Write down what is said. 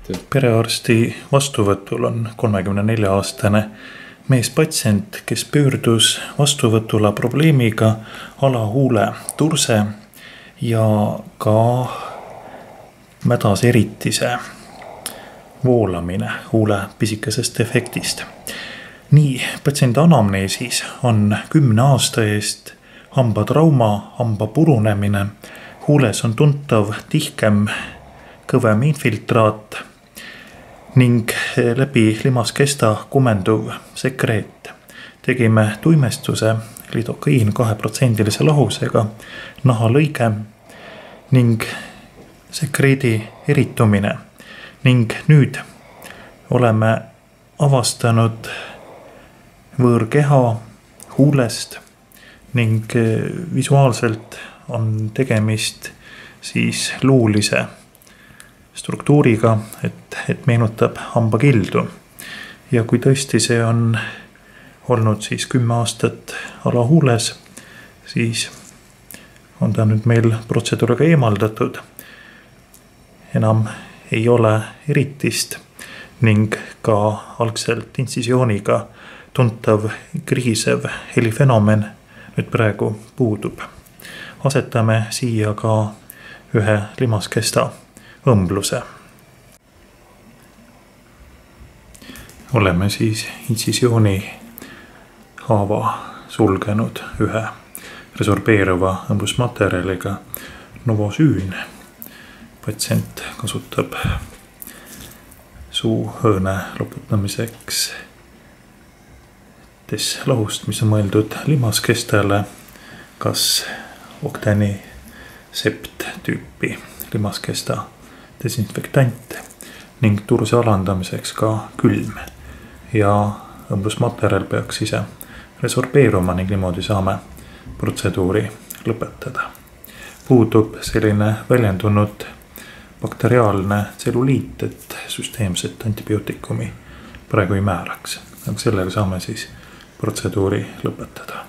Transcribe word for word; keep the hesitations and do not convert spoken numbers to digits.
Perearsti vastuvõtul on kolmekümne nelja aastane meespatsient, kes pöördus vastuvõtula probleemiga alahuule turse ja ka mädas eritise voolamine huule pisikesest efektist. Nii, patsiendi anamneesis on kümne aasta eest hambatrauma, hamba purunemine, huules on tuntav tihkem kõvem infiltraat ning läbi limaskesta kumenduv sekreet. Tegime tuimestuse lidokain kahe protsendilise lahusega, nahalõige ning sekreedi eritumine. Ning nüüd oleme avastanud võõrkeha huulest ning visuaalselt on tegemist siis luulise struktuuriga, et, et meenutab hambakildu. Ja kui tõesti see on olnud siis kümme aastat alahuules, siis on ta nüüd meil protseduuriga eemaldatud. Enam ei ole eritist ning ka algselt intsisiooniga tuntav kriisev helifenomen nüüd praegu puudub. Asetame siia ka ühe limaskesta õmbluse. Oleme siis intsisiooni haava sulgenud ühe resorbeeruva õmblusmaterjaliga Novosüün. Patsient kasutab suuhõõne loputamiseks lahust, mis on mõeldud limaskestele, kas Octani sept tüüpi limaskesta desinfektant ning turse alandamiseks ka külm ja õmblusmaterjal peaks ise resorbeeruma ning niimoodi saame protseduuri lõpetada. Puudub selline väljendunud bakteriaalne tselluliit, et süsteemset antibiootikumi praegu ei määraks, aga sellega saame siis protseduuri lõpetada.